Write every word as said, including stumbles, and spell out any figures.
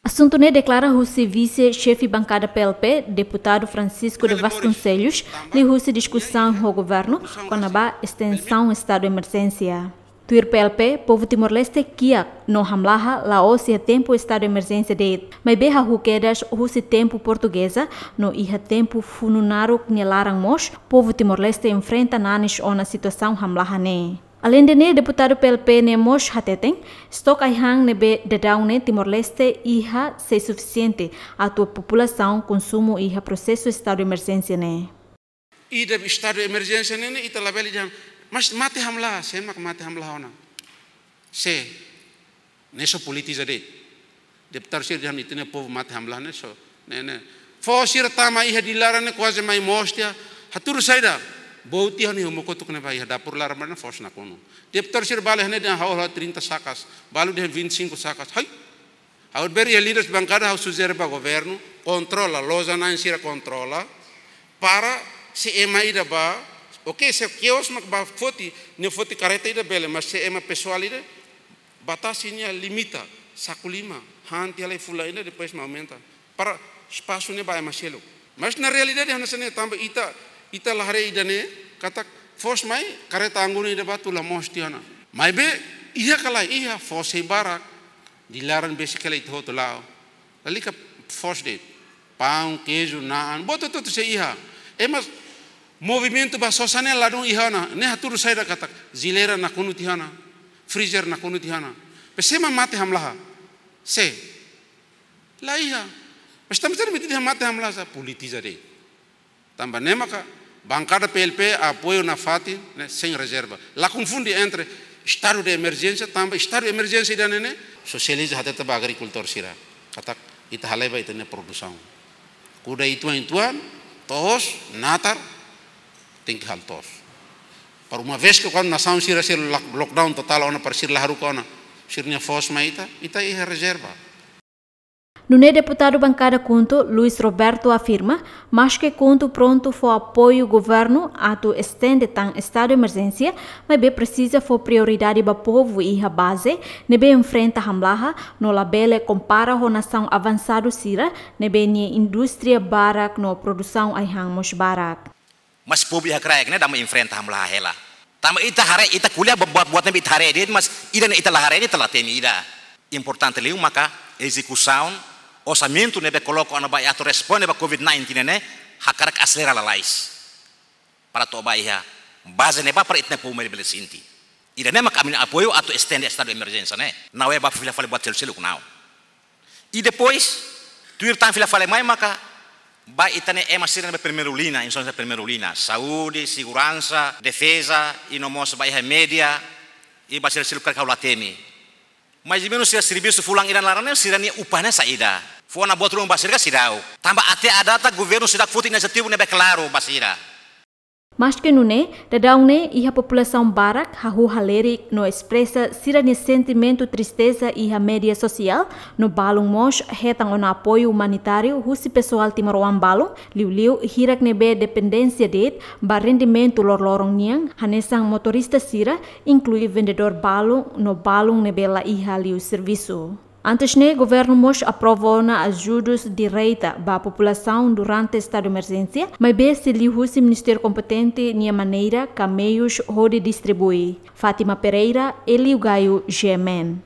Asuntu ne'e deklara husi vise-xefe bankada P L P, deputadu Francisco de Vasconcelos, liuhusi diskusaun ho governu kona-ba estensaun estadu emerjénsia. Tuir P L P, povu Timor-Leste kiak no hamlaha la'ós iha tempu estadu emerjénsia de'it, maibé hahú kedas husi tempu portugeza no iha tempu funu naruk nia laran mós povu Timor-Leste enfrenta nanis ona situasaun hamlaha ne'e. Aleinde ne'e, deputadu P L P ne'e mós hateten, estok ai-han ne'ebé daudaun ne'e Timor-Leste iha sei sufisiente atu populasaun konsumu iha prosesu estadu emerjénsia ne'e. Ida estadu emerjénsia ne'e, ne'e ita labele dehan, mas mate hamlaha, sé mak mate hamlaha ona? Sé, ne'e só politiza de'it. Deputadu sira dehan ita-nia povu mate hamlaha ne'e só, ne'e, ne'e. Foos sira tama iha Dili laran ne'e kuaze mai moos tiha, hatudu saida? Boot tiha ona iha uma kotuk ne'ebá, iha dapur laran ba ne'e foos nakonu. Deputadu sira bale hanesan dehan ha'u halo trinta sakas, balu dehan vinte e cinco sakas. Hai. Ha'u beri iha líderes bankada, ha'u sujere ba governu, kontrola, loja na'in sira kontrola, para se ema ida bá, oke, se kios mak bá foti, nia foti karreta ida bele, mas se ema pesoál ida, batasi nia limita, saku lima, han tiha lai fulan ida, depois mak aumenta. Para espasu ne'e ba ema seluk. Mas na realidade, hanesan ne'e tanba ita, ita la haree ida-ne'e, katak foos mai, karreta anggunu ida bá tula moos tiha ona. Maibé, iha ka lae, iha foos sei barak, Dili laran besik hela ita hotu la'o. Lalika foos de'it. Paun, keiju, na'an, buat hotu-hotu sei iha. Ema movimentu ba sosa ne'e ladún iha ona. Ne'e hatudu saida katak jeleira nakonu tiha ona. Freezer nakonu tiha ona. Pe sé mak mate hamlaha? Sé? La iha. Mas tanba saida mak ita dehan mate hamlaha? Sá, politiza de'it. Tanba ne'e maka bankada P L P apoiu nafatin ne'e sein rezerva. La konfunde entre estadu de emerjénsia, tanba estadu de emerjénsia ida-ne'e ne'e sosializa hatete ba agrikultór sira. Katak ita halai ba ita-nia produsaun. Kuda uitoan-uitoan, toos, natar, tenke halo toos. Para uma vez que kuandu nasaun sira sei lock-, lockdown totál ona para sira la haruka ona sira-nia foos mai ita, ita iha rezerva. Nune'e deputadu bankada KHUNTO, Luis Roberto afirma, maske KHUNTO prontu fó apoiu governu atu estende tan estadu emerjénsia, maibé presiza fó prioridade ba povu iha baze, ne'ebé enfrenta hamlaha, no labele kompara ho nasaun avansadu sira, ne'ebé nia indústria barak no produsaun ai-han mós barak. Mas povu iha kraik ne'e dama enfrenta hamlaha hela. Tanba ita haree, ita ko'alia ba-, ba-, buat ne'ebé ita haree de'it, mas ida-ne'e ita la haree, ita la temi ida. Importante liu maka ezekusaun orsamentu ne'ebé koloka ona ba atu responde ba covid nineteen ne'e, hakarak aselera lalais. Para to'o ba iha baze ne'ebá para ita-nia povu mai bele sente. Ida-ne'e maka ami-nia apoiu atu estende estadu emerjénsia ne'e. La'ós ba fila fali buat seluk-seluk, la'ós. I depois, tuir tan fila fali mai maka, ba ita-nia ema sira ne'ebé primeiru lina, instansia primeiru lina, saúde, seguransa, defeza, i no mós ba iha média, i ba sira seluk karik ha'u la temi. Mais ou menus sira servisu fulan ida nia laran ne'e, sira-nia upah ne'e saida? Fó ona buat ruma ba sira ka seidauk? Tanba até à data governu seidauk foti inisiativa ne'ebé klaru ba sira. Maske nune'e, daudaun ne'e iha populasaun barak hahú halerik no espresa sira-nia sentimentu tristeza iha média sosiál, no balun mós hetan ona apoiu umanitáriu husi pesoál timoroan balun, liuliu hirak ne'ebé dependénsia de'it ba rendimentu loroloron nian, hanesan motorista sira, inklui vendedór balun no balun ne'ebé la iha liu servisu. Antes ne'e, governu mós aprova ona ajudus direta ba populasaun durante estadu emerjénsia, maibé sei liuhusi ministériu kompetente nia maneira ka meius hodi distribui. Fátima Pereira, Elio Gaio, G M N.